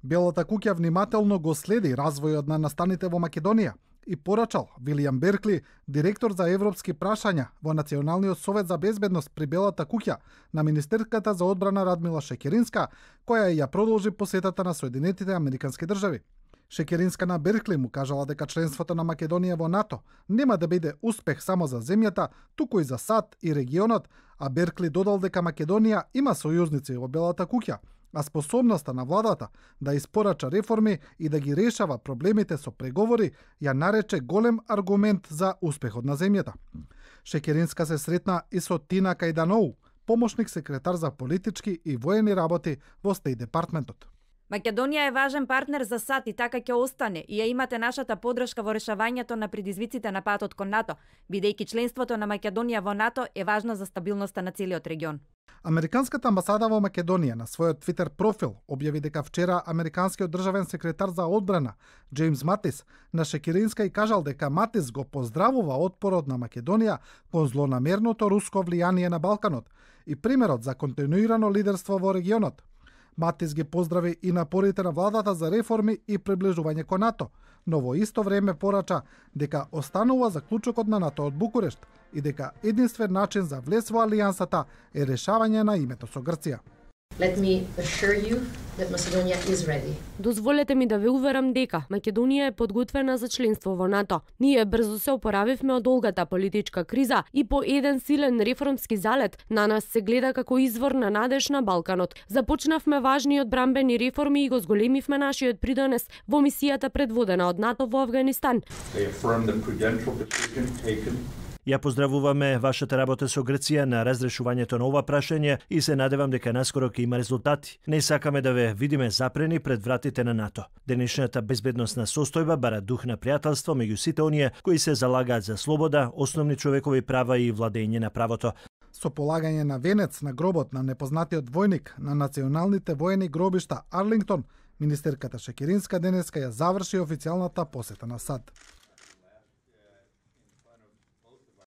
Белата куќа внимателно го следи развојот на настаните во Македонија и порачал Вилијам Беркли, директор за европски прашања во Националниот совет за безбедност при Белата куќа, на министерката за одбрана Радмила Шекеринска, која ја продолжи посетата на Соединетите Американски држави. Шекеринска на Беркли му кажала дека членството на Македонија во НАТО нема да биде успех само за земјата, туку и за САД и регионот, а Беркли додал дека Македонија има сојузници во Белата куќа, а способноста на владата да испорача реформи и да ги решава проблемите со преговори ја нарече голем аргумент за успехот на земјата. Шекеринска се сретна и со Тина Кајданоу, помошник секретар за политички и воени работи во Стејт департментот. Македонија е важен партнер за САД и така ќе остане и ја имате нашата подршка во решавањето на предизвиците на патот кон НАТО, бидејќи членството на Македонија во НАТО е важно за стабилноста на целиот регион. Американската амбасада во Македонија на својот Твитер профил објави дека вчера американскиот државен секретар за одбрана Џејмс Матис на Шекеринска и кажал дека Матис го поздравува отпорот на Македонија кон злонамерното руско влијание на Балканот и примерот за континуирано лидерство во регионот. Матис ги поздрави и напорите на владата за реформи и приближување кон НАТО, но во исто време порача дека останува заклучокот на НАТО од Букурешт и дека единствен начин за влез во алијансата е решавање на името со Грција. Let me assure you that Macedonia is ready. Дозволете ми да ве уверам дека Македонија е подготвена за членство во НАТО. Ние брзо се опоравивме од долгата политичка криза и по еден силен реформски залет на нас се гледа како извор на надеж на Балканот. Започнавме важни одбранбени реформи и го зголемивме нашиот придонес во мисијата предводена од НАТО во Авганистан. Ја поздравуваме вашата работа со Грција на разрешувањето на ова прашање и се надевам дека наскоро ќе има резултати. Не сакаме да ве видиме запрени пред вратите на НАТО. Денешната безбедносна состојба бара дух на пријателство меѓу сите оние кои се залагаат за слобода, основни човекови права и владење на правото. Со полагање на венец на гробот на непознатиот војник на националните воени гробишта Арлингтон, министерката Шекеринска денеска ја заврши официјалната посета на САД.